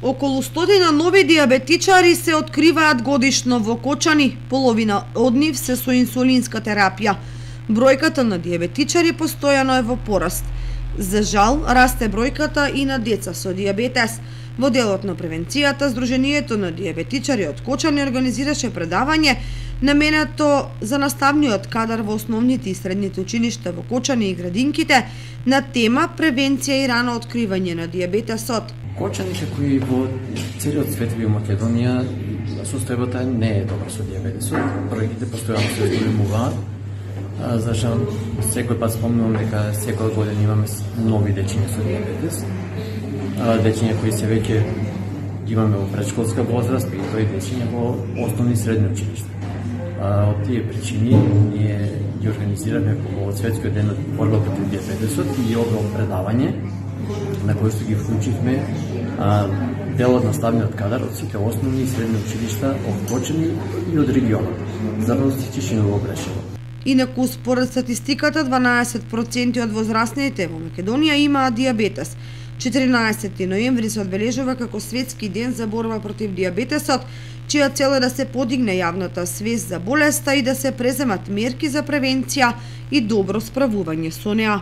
Околу 100 нови диабетичари се откриваат годишно во Кочани, половина од нив се со инсулинска терапија. Бројката на диабетичари постојано е во пораст. За жал, расте бројката и на деца со диабетес. Во делот на превенцијата, Сдруженијето на диабетичари од Кочани организираше предавање наменето за наставниот кадар во основните и средните училишта во Кочани и градинките на тема превенција и рано откривање на диабетесот. Кочани, како и во целиот свет и во Македонија, состојбата не е добра со диабетесот. Бројките постојано се зголемуваат. За жал, секој пат спомнувам дека секоја година имаме нови дечиња со диабетес. Дечиња кои се веќе имаме во предшколска возраст и тој дечиња во основни и средни училишта. Од тие причини ние ги организираме во Светскиот ден од борба против диабетесот и ова предавање на кој што ги вклучивме дел од наставниот кадар од сите основни и средни училишта од Кочани и од регионот, за да се Тишино во Брешево. Инаку, според статистиката, 12% од возрастните во Македонија имаат диабетес. 14 ноември се одбележува како Светски ден за борба против диабетесот, чија цел е да се подигне јавната свест за болеста и да се преземат мерки за превенција и добро справување со неа.